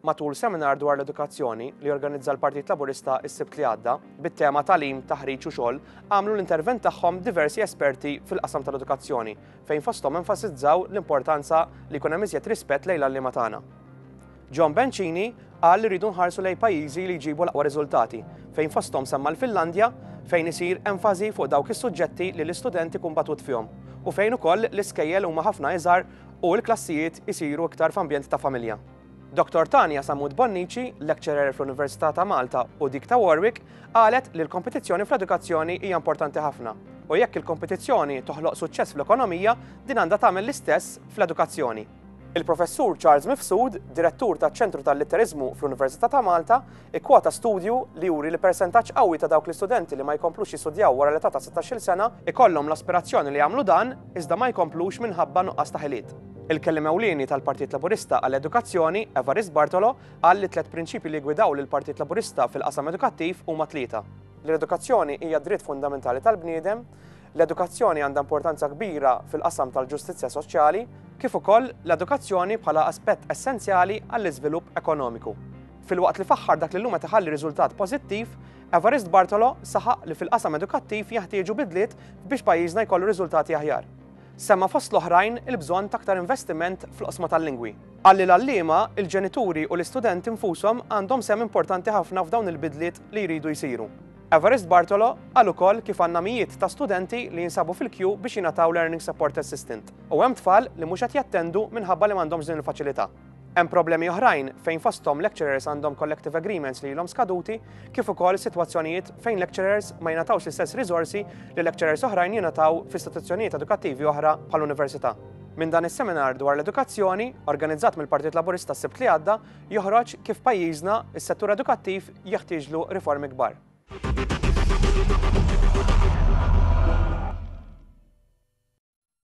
Matul seminar dwar l-edukazzjoni li organizza l-Partit Laburista s-Sibt li għadda, bit-tema Tagħlim, Taħriġ u Xogħol, għamlu l-intervent tagħhom diversi esperti fil-qasam tal-edukazzjoni fejn fosthom enfasizzaw l-importanza li jkun hemm iżjed rispett lejn l-għalliema tagħna. John Bencini qal li rridu nħarsu lejn pajjiżi li jġibu l-aqwa riżultati, fejn fosthom semma l-Finlandja fejn isir enfasi fuq dawk is-suġġetti li l-istudent ikun batut fihom u fejn ukoll l-iskejjel huma ħafna iżgħar u l-klassijiet isiru iktar f'ambjent ta' familja. Dottor Tania Sammut Bonnici, lecturer fl-Università ta' Malta u dik ta' Warwick, qalet li l-kompetizzjoni fl-edukazzjoni hija importanti ħafna u jekk il-kompetizzjoni toħloq suċċess fl-ekonomija, din għandha tagħmel l-istess fl-edukazzjoni. Il-Professur Charles Mifsud, Direttur taċ-Ċentru tal-Litteriżmu fl-Università ta' Malta, ikkwota studju li juri li persentaġġ qawwi ta' dawk l-istudenti li ma jkomplux jistudjaw wara l-età ta' sittax-il sena ikollhom l-aspirazzjoni li jagħmlu dan iżda ma jkomplux minħabba nuqqas ta' ħiliet. Il-Kelliem Ewlieni tal-Partit Laburista għall-Edukazzjoni, Evarist Bartolo, qal li t-tliet prinċipji li jiggwidaw lill-Partit Laburista fil-qasam edukattiv huma tlieta. Li l-edukazzjoni hija dritt fundamentali tal-bniedem, l-edukazzjoni għandha importanza kbira fil-qasam tal-ġustizzja soċjali, kif ukoll l-edukazzjoni bħala aspett essenzjali għall-iżvilupp ekonomiku. Filwaqt li faħħar dak li llum qed iħalli riżultat pożittiv, Evarist Bartolo saħaq li fil-qasam edukattiv jeħtieġu bidliet biex pajjiżna jkollu riżultati aħjar. Semma fost l-oħrajn il-bżonn ta' aktar investiment fl-oqsma tal-lingwi. Qal li l-għalliema, il-ġenituri u l-istudenti nfushom għandhom sehem importanti ħafna f'dawn il-bidliet li jridu jsiru. Evarist Bartolo qal ukoll kif għandna mijiet ta' studenti li jinsabu fil-kju biex jingħataw Learning Support Assistant u hemm tfal li mhux qed jattendu minħabba li m'għandhomx din il-faċilità. Hemm problemi oħrajn fejn fosthom lecturers għandhom collective agreements li ilhom skaduti kif ukoll sitwazzjonijiet fejn lecturers ma jingħatawx l-istess riżorsi li lecturers oħrajn jingħataw f'istituzzjonijiet edukattivi oħra bħall-università. Minn dan is-seminar dwar l-edukazzjoni, organizzat mill-Partit Laburista s-Sibt li għadda, joħroġ kif pajjiżna, is-settur edukattiv jeħtieġlu riformi kbar.